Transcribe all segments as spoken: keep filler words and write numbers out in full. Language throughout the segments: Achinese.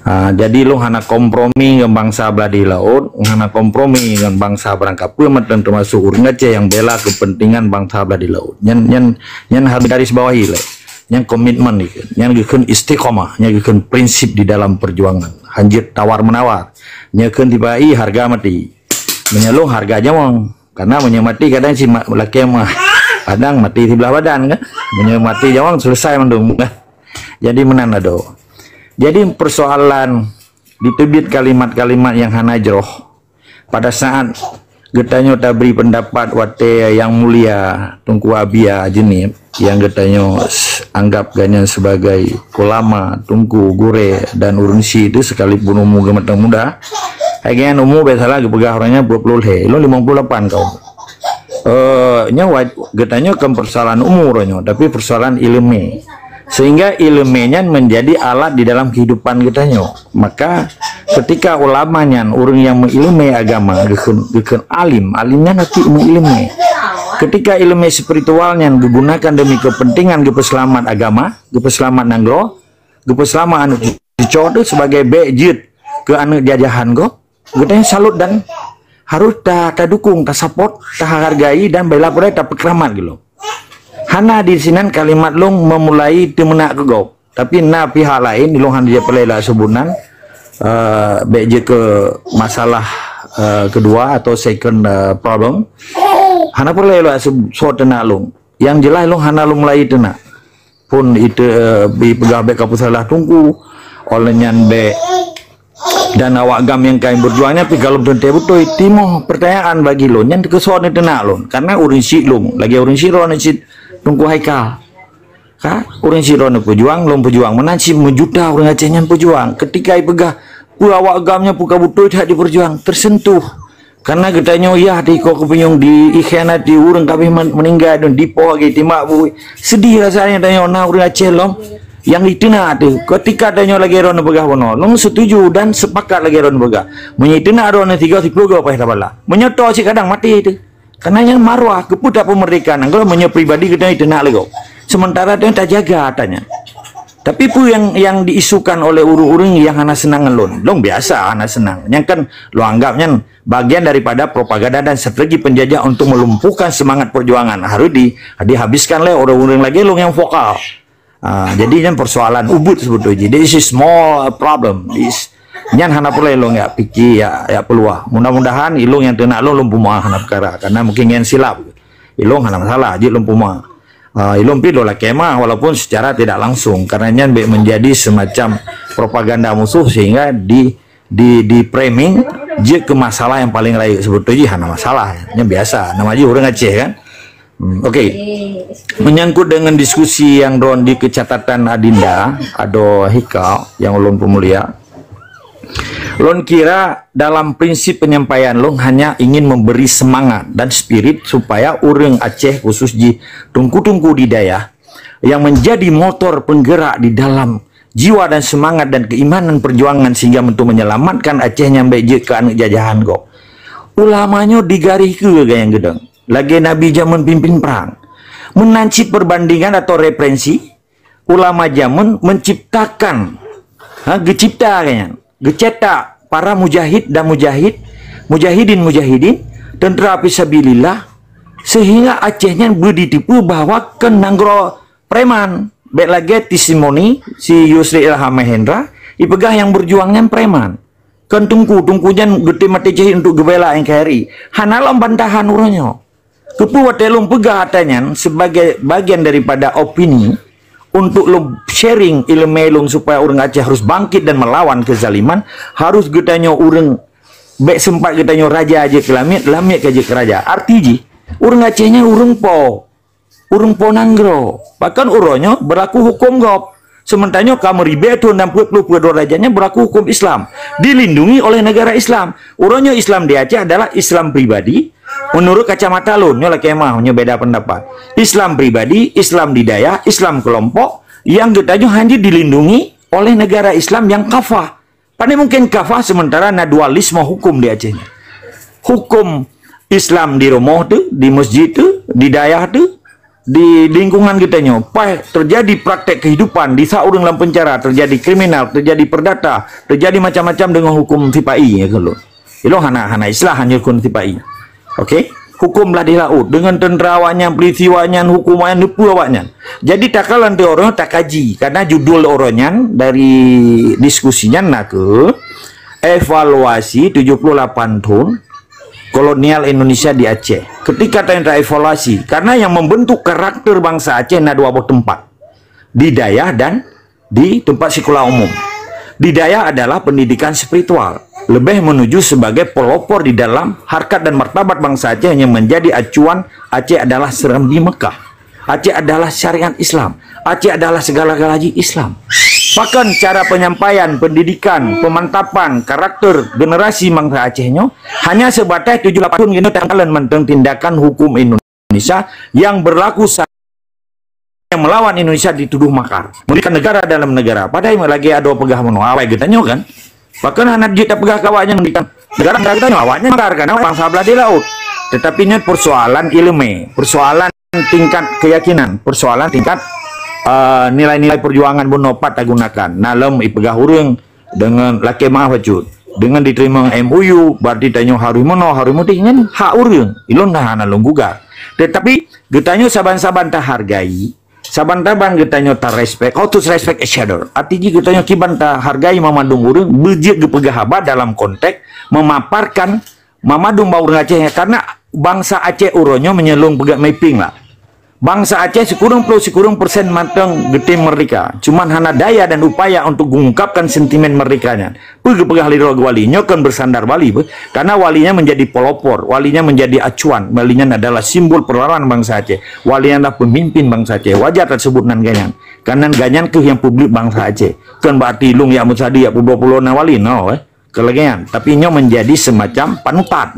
Ha, jadi lôn hana kompromi ngon bansa blah di laôt, hana kompromi ngon bansa barangkapeue mantong, teumasuk ureuëng Aceh nyang bela keupeuntingan bansa blah di laôt. Nyan nyan nyan harus garis bawahi lé. Nyan komitmen ikeu. Nyan geukheun istiqomah, nyan geukheun prinsip di dalam perjuangan. Hanjeuet tawar menawar. Nyan kheun tiba i harga mati. Meunyoe lôn harga nyawöng. Karena meunyoe mati kadang si lakée mah. Kadang mati siblah badan kan. Meunyoe mati nyawöng selesai mandum kan. Jadi meunan adoe. Jadi persoalan diteubiet kalimat-kalimat nyang hana jroh. Pada saat geutanyoe tabri pendapat watée Yang Mulia Teungku Abia Jeunieb nyang geutanyoe anggap gobnyan sebagai ulama, teungku, gurée dan ureuëng syiek itu sekalipun umu geumatang muda, hai gobnyan umu biasalah geupeugah ureuëng nyan dua puluh lhée, lôn lima puluh lapan kaum. Eh, nyoe geutanyoe bukan persoalan umur nyoe, tapi persoalan ileumé. Sehingga ileumé nyan menjadi alat di dalam kehidupan geutanyoe. Maka ketika ulama nyan ureuëng nyang meuileumé agama, geukheun alim, alim nyan arti meuileumé. Ketika ileumé spiritual nyan digunakan demi kepentingan geupeuseulamat agama, geupeuseulamat nanggroe, geupeuseulamat aneuëk cucoe teuh sebagai bék jeuet keu aneuëk jajahan gob, geutanyoe salut dan harus ta tadukung, tasapot, tahargai dan bela peureulée tapeukeuramat geuloe. Hana di sinan kalimat lôn meumulai teumeunak keu gob. Tapi na pihak laén, ilôn hana jipeureulée lôn seubut nan, eh, bék jeuet keu masalah, eh, keudua atau second, eh, problem. Hana peureulée lôn seubut soe teunak lôn. Nyang jeulaih lôn hana lôn mulai teunak. Pun itu, eh, ipeugah bék kapeusalah teungku, óh lheueh nyan bék dan awak gam nyang ka beujuang nyan pih galom teuntée beutôi. Timoh pertanyaan bagi lôn nyan keu soe neuteunak lôn. Karena ureuëng syiek lôn, lagée ureuëng syiek droeneuh cit Teungku Haikal. Ka, ureuëng syiek droeneuh peujuang, lôn peujuang. Meunan cit meujuta ureuëng Aceh nyan peujuang. Ketika ipeugah, peue awak gam nyan peue ka beutôi that jipeujuang, tersentuh. Karena geutanyoe yah di ko keupunyueng di ikhianati ureuëng kabeh meuninggai dan dipoh lagi timbak bui. Sedih rasanya tanyoe na ureuëng Aceh lom nyang diteunak teuh. Ketika tanyoe lagée droeneuh peugah bunoe, lôn setuju dan sepakat lagée droeneuh peugah. Meunyoe teunak droeneuh tiga siploh go paih tabala. Meunyoe toh cit kadang maté teuh. Karena nyan marwah, keupeue tapeumeurdeka nanggroe meunyoe pribadi geutanyoe teunak lego. Sementara tanyoe tajaga atra nyan. Tapi peue nyang nyang diisukan oleh ureuëng-ureuëng nyang hana seunang ngon lôn? Lôn biasa hana seunang. Nyang kan lôn anggap nyan bagian daripada propaganda dan strategi penjajah untuk melumpuhkan semangat perjuangan. Harus di, dihabiskan lé ureuëng-ureuëng lagée lôn nyang vokal. Ah, jadi nyan persoalan ubit sebetulnya. This is small problem. Is nyan hana peureulée lôn jak pike jak jak peuluah. Mudah-mudahan ilôn nyang teunak lôn lôn peumeuah hana peukara. Karena mungkin nyan silap. Ilôn hana masalah, jeuet lôn peumeuah. Ah, ilôn pih lôn lakée meuah walaupun secara tidak langsung. Karena nyan bék menjadi semacam propaganda musuh sehingga di di di framing jeuet keu masalah nyang paling rayeuk. Sebetulnya hana masalah. Nyan biasa. Nama jih ureuëng Aceh kan. Hmm, okey. Menyangkut dengan diskusi nyang droen di kecatatan Adinda, adoe Haikal nyang ulôn peumulia. Lôn kira dalam prinsip penyampaian lôn hanya ingin memberi semangat dan spirit supaya ureuëng Aceh khusus jih teungku-teungku di dayah yang menjadi motor penggerak di dalam jiwa dan semangat dan keimanan perjuangan sehingga untuk menyelamatkan Aceh nyan bék jeuet keu aneuëk jajahan gob. Ulama nyoe digaréh keue gayang geudong, lagée nabi jameun pimpin prang. Meunan cit perbandingan atau referensi, ulama jameun menciptakan, ha, geucipta geuh nyan, geucetak para mujahid dan mujahid, mujahidin-mujahidin, teuntera fisabilillah, sehingga Aceh nyan beuditeupeu bahwa kon nanggroe preman. Bék lagée testimoni si Yusri Ilham Mahendra, ipeugah nyang beujuang nyan preman. Kon teungku, teungku nyan geutem maté syahid untuk geubela N K R I. Hana lom bantahan uroe nyoe. Keupeue watée lôn peugah atra nyan sebagai bagian daripada opini untuk lôn sharing ileumé lôn supaya ureuëng Aceh harus bangkit dan melawan kezaliman, harus geutanyoe ureuëng bék sempat geutanyoe raja jeuet keu lamiet, lamiet ka jeuet keu raja. Arti jih, ureuëng Aceh nyan ureuëng po. Ureuëng po nanggroe. Bahkan uroe nyoe beulaku huköm gob. Seumeuntara nyoe ka meuribée thon dan peuet ploh peuet droe raja nyan beulaku huköm Islam. Dilindungi oleh negara Islam. Uroe nyoe Islam di Aceh adalah Islam pribadi, menurut kacamata lôn, nyoe lakée meuah, nyoe beda pendapat. Islam pribadi, Islam di dayah, Islam kelompok, nyang geutanyoe hana dilindungi oleh negara Islam nyang kafah. Pane mungken kafah seumeuntara na dualisme huköm di Aceh nyoe. Huköm Islam di rumoh teuh, di meuseujid teuh, di dayah teuh, di lingkungan kita nyoe, pas terjadi praktek kehidupan, di saat ureuëng lam penjara, terjadi kriminal, terjadi perdata, terjadi macam-macam dengan hukum sipai, ya kan, Lôn? Ilong hana, hana istilah hanya hukum sipai. Okey? Hukum blah di laut. Dengan tentera awaknyan, polisi awaknyan, hukum awaknyan, neupeu awaknyan. Jadi, takalon tu orang takaji. Karena judul orang nyan dari diskusi nyan nak ke evaluasi tujuh puluh lapan tahun kolonial Indonesia di Aceh. Ketika tanya evaluasi, karena yang membentuk karakter bangsa Aceh na dua boh tempat. Di dayah dan di tempat sekolah umum. Di dayah adalah pendidikan spiritual, lebih menuju sebagai pelopor di dalam harkat dan martabat bangsa Aceh yang menjadi acuan Aceh adalah serambi Mekah. Aceh adalah syariat Islam. Aceh adalah segala-galanya Islam. Bahkan cara penyampaian, pendidikan, pemantapan karakter generasi bangsa Aceh nyoe hanya sebatas tujuh lapan tahun gini tanggalan mantong tindakan hukum Indonesia yang berlaku saat yang melawan Indonesia dituduh makar. Mendirikan negara dalam negara. Padahai lagi ada peugah meunoe. Awai geutanyoe kan? Bahkan hana jeuet tapeugah ke awaknyan mendirikan negara dalam negara geutanyoe. Awaknyan makar karena bangsa belah di laut. Tetapi nyoe persoalan ilmu, persoalan tingkat keyakinan, persoalan tingkat uh, nilai-nilai perjuangan bunoe pat tagunakan. Nalem ipeugah ureuëng dengan lakée maaf bacut. Dengan diterima M O U, berarti tanyoe harus meunoe, harus mudih nyan hak ureuëng. Ilôn dah hana lôn gugat. Tetapi geutanyoe saban-saban tahargai, saban-saban geutanyoe tarespek. How to respect each other? Arti jih geutanyoe kiban tahargai mamandum ureuëng, beujeuet geupeugah haba dalam konteks memaparkan mamandum bak ureuëng Aceh nyan. Karena bangsa Aceh uroe nyoe meunyoe lôn peugah mapping lah. Bangsa Aceh sikureueng ploh sikureueng persen mantong geutem merdeka. Cuman hana daya dan upaya untuk mengungkapkan sentimen merdeka nyan. Peue geupeugah lé droe wali? Nyoe kon bersandar wali beuh. Karena wali nyan menjadi pelopor, wali nyan menjadi acuan, wali nyan adalah simbol perlawanan bangsa Aceh. Wali nyan adalah pemimpin bangsa Aceh. Wajar tersebut nan ganyan. Karena ganyan keuh yang publik bangsa Aceh. Kon berarti lôn yak meusadari yak peubuet pulo na wali, no, eh. Kelegian. Tapi nyoe menjadi semacam panutan.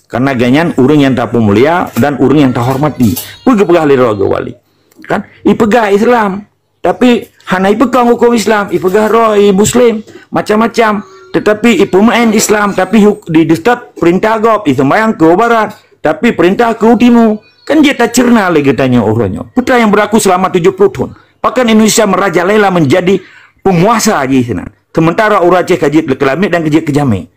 Karena ganyan ureuëng yang tapeumulia dan ureuëng yang tahormati. Peue geupeugah lé droe wali? Kan? Ipeugah Islam. Tapi hana ipeukong hukum Islam, ipeugah roh i Muslim, macam-macam. Tetapi ipeumaén Islam, tapi huk- di dekat perintah gob, iseumbayang ke barat, tapi perintah ke timu. Kan jeuet tacerna lé geutanyoe uroe nyoe. Peue nyang berlaku selama tujuh puluh tahun. Bahkan Indonesia merajalela menjadi penguasa jih sinan. Sementara ureuëng Aceh ka jeuet keu lamiet dan ka jeuet keu jamék.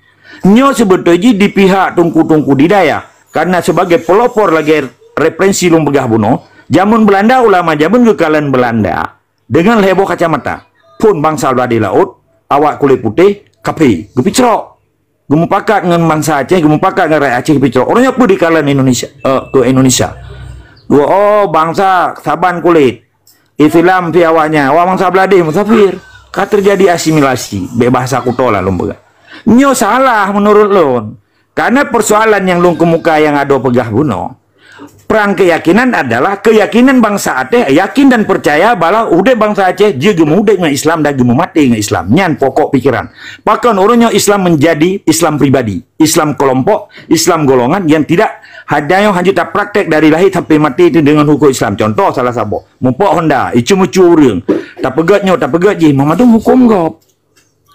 Nyoe seubeutôi jih di pihak teungku-teungku di dayah. Karena sebagai pelopor lagée referensi lôn peugah bunoe, jameun Belanda, ulama jameun geukalon Belanda dengan lhée boh kacamata. Phon bangsa blah di laut, awak kulét putéh, kaphé, geupicrok. Geumupakat ngon bangsa Aceh, geumupakat ngon rakyat Aceh geupicrok. Uroe nyoe peue dikalon Indonesia, eh, keu Indonesia. Dua, oh, bangsa saban kulét. Islam pih awaknyan, awak bangsa blah di musafir. Ka terjadi asimilasi, bék bahasa kuto lah lôn peugah. Nyoe salah menurut lôn. Karena persoalan nyang lôn keumuka nyang adoe peugah bunoe, perang keyakinan adalah keyakinan bangsa Aceh yakin dan percaya bahwa udeb bangsa Aceh jeuet geumudeb ngon Islam dan geumumaté ngon Islam. Nyan pokok pikiran. Pakon uroe nyoe Islam menjadi Islam pribadi, Islam kelompok, Islam golongan yang tidak hanya hanya tapraktek dari lahir sampai mati itu dengan hukum Islam. Contoh salah saboh, mupok honda, icu-mucu ureuëng, tapeugét nyoe, tapeugét jih, meumandum hukum gob.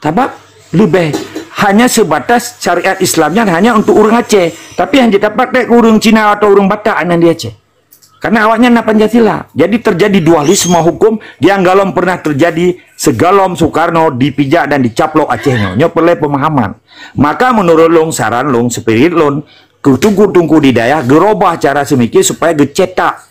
Sabab leubeh hanya sebatas syariat Islam nyan hanya untuk ureuëng Aceh, tapi hana tapraktek keu ureuëng Cina atau ureuëng Batak nyang di Aceh. Karena awaknyan na Pancasila. Jadi terjadi dualisme hukum yang galom pernah terjadi segalom Soekarno dipijak dan dicaplok Aceh nyoe. Nyoe perlu pemahaman. Maka menurut lôn, saran lôn, spirit lôn, keu teungku-teungku di dayah geurobah cara seumiké supaya geucetak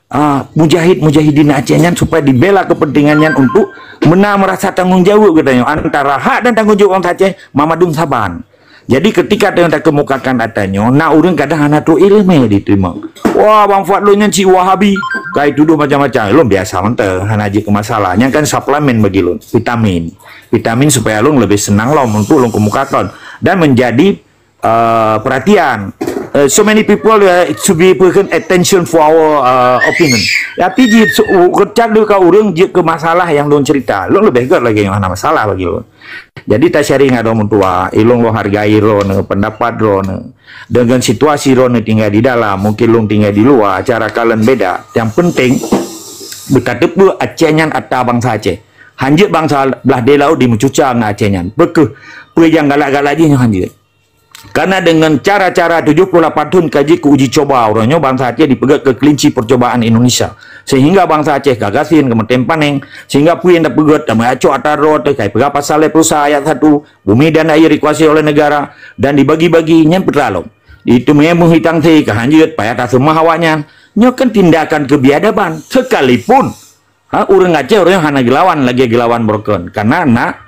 ah, mujahid-mujahidin Aceh nyan supaya dibela kepentingan nyan untuk meunan merasa tanggung jaweueb geutanyoe antara hak dan tanggung jaweueb bangsa Aceh meumandum saban. Jadi ketika tanyoe takeumukakan ata nyoe, na ureuëng kadang hana trok iéleumé jiteurimong. Wah, Bang Fuad lôn nyan cit Wahabi, ka jitudoh macam-macam. Lôn biasa mantong, hana jeuet keu masalah. Nyan kan suplemen bagi lôn, vitamin. Vitamin supaya lôn leubeh seunang lom untuk lôn keumukakan dan menjadi uh, perhatian. Uh, so many people uh, to be put attention for our uh, opinion. Tapi jih so, keucak lé ka ureuëng jeuet keu masalah nyang lôn cerita. Lôn leubeh gét lagée nyoe hana masalah bagi lôn. Jadi ta sharing ngon droe meutuah, ilong lôn hargai droeneuh, pendapat droeneuh. Dengan situasi droeneuh tinggai di dalam, mungkin lôn tinggai di luwa, cara kalon beda. Yang penting beutateupeue Aceh nyan ata bangsa Aceh. Hanjeuet bangsa blah di laut dimeucuca ngon Aceh nyan. Beukeue peue nyang galak-galak jih nyoe hanjeuet. Karena dengan cara-cara tujuh puluh lapan thon ka jeuet keu uji coba uroe nyoe, bansa Aceh dipeugét keu kelinci percobaan Indonesia. Sehingga bansa Aceh ka gasien, ka meutem paneng, sehingga peue nyang tapeugét, tameuacok atra droe teuh, ka ipeugah pasal lhèe ploh sa ayat satu, bumi dan air dikuasai oleh negara dan dibagi-bagi, nyan peue teuma lom. Itu memang hitang thé ka hanjeuet, payah taseumah awaknyan. Nyoe kan tindakan kebiadaban. Sekalipun Ha, ureuëng Aceh ureuëng hana geulawan lagée geulawan broken, karena na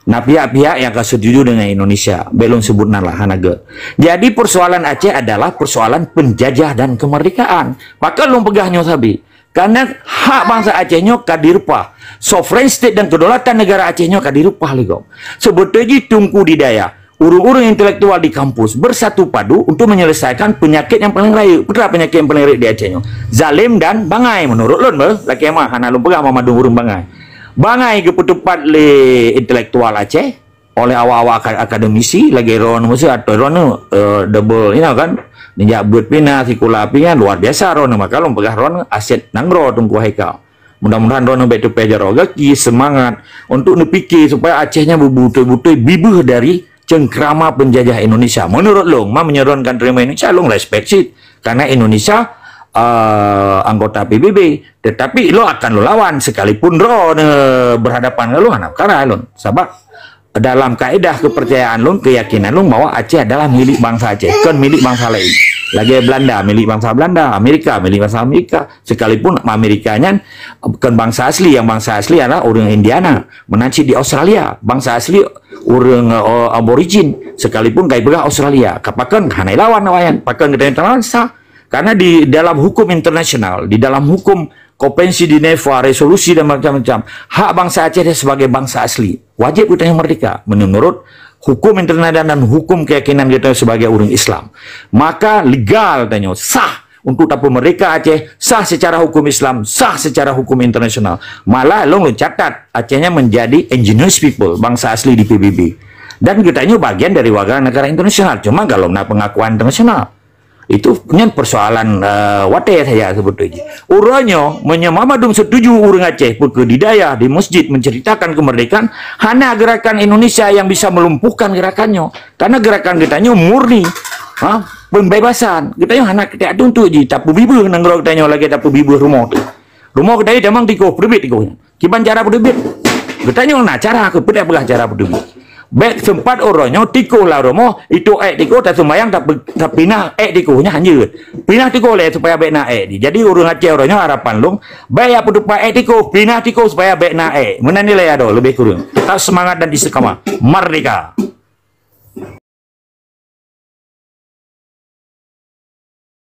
na pihak-pihak yang ka setuju dengan Indonesia. Bék lôn sebut nan lah, hana gét. Jadi persoalan Aceh adalah persoalan penjajah dan kemerdekaan. Pakon lôn peugah nyoe sabe? Karena hak bansa Aceh nyoe ka direupah. Sovereign state dan kedaulatan negara Aceh nyoe ka direupah lé gob. Sebetulnya jih teungku di dayah, ureuëng-ureuëng intelektual di kampus bersatu padu untuk menyelesaikan penyakit yang paling rayeuk. Peue teuma penyakit yang paling rayeuk di Aceh nyoe? Zalim dan bangai menurut lôn beuh. Lakée mah hana lôn peugah mandum ureuëng bangai. Bangai geupeuteupat lé intelektual Aceh oleh awak-awak aka- akademisi lagée droeneuh atau droeneuh, eh, double, you know, kan? Neujak beuet pih na, sikula pih na, luar biasa droeneuh. Maka lôn peugah droeneuh aset nanggroe Teungku Haikal. Mudah-mudahan droeneuh bék teupéh jaroe gaki, semangat untuk neupike supaya Aceh nyan beutôi-beutôi bibeuh dari cengkrama penjajah Indonesia. Menurut lôn, ma meunyoe droeneuh ka teurimong Indonesia, lôn respect cit. Karena Indonesia, eh, anggota P B B. Tetapi lôn akan lôn lawan sekalipun droeneuh berhadapan ngon lôn, hana peukara lôn. Sabab dalam kaedah kepercayaan lôn, keyakinan lôn bahwa Aceh adalah milik bansa Aceh, kon milik bansa lain. Lagée Belanda milik bansa Belanda, Amerika milik bansa Amerika. Sekalipun Amerika nyan kon bansa asli, yang bansa asli adalah ureuëng Indiana, meunan cit di Australia, bansa asli ureuëng, eh, aborigin, sekalipun ka ipeugah Australia. Ka pakon hana ilawan awaknyan, pakon geutanyoe talawan sah. Karena di dalam hukum internasional, di dalam hukum Konvensi Geneva, resolusi dan macam-macam, hak bansa Aceh sebagai bansa asli wajib geutanyoe merdeka menurut hukum internasional dan hukum keyakinan geutanyoe sebagai ureuëng Islam. Maka legal tanyoe sah untuk tapeumerdeka Aceh, sah secara hukum Islam, sah secara hukum internasional. Malah lôn lôn catat, Aceh nyan menjadi indigenous people, bansa asli di P B B. Dan geutanyoe bagian dari warga negara internasional, cuma golom na pengakuan internasional. Itu nyan persoalan, eh, watée saja sebetulnya. Uroe nyoe, meunyoe mandum setuju ureuëng Aceh, peue keu di dayah, di masjid menceritakan kemerdekaan, hana gerakan Indonesia yang bisa melumpuhkan gerakan nyoe. Karena gerakan geutanyoe murni, ha, pembebasan. Geutanyoe hana keutak tuntut jih, tapeubibeuh nanggroe geutanyoe lagée tapeubibeuh rumoh teuh. Rumoh geutanyoe jamang tikoh, peuteubiet tikoh nyan. Kiban cara peuteubiet? Geutanyoe na cara keu peue, peugah cara peuteubiet. Bék seumpat uroe nyoe tikoh lam rumoh, itu ék tikoh, taseumayang, tapi, tapinah ék tikoh nyan hanjeuet. Pinah tikoh lé supaya bék na ék. Jadi ureuëng Aceh uroe nyoe harapan lôn, bék ya peuteupat ék tikoh, pinah tikoh supaya bék na ék. Meunan nilai adoe lebih kurang. Tetap semangat dan istiqamah. Merdeka!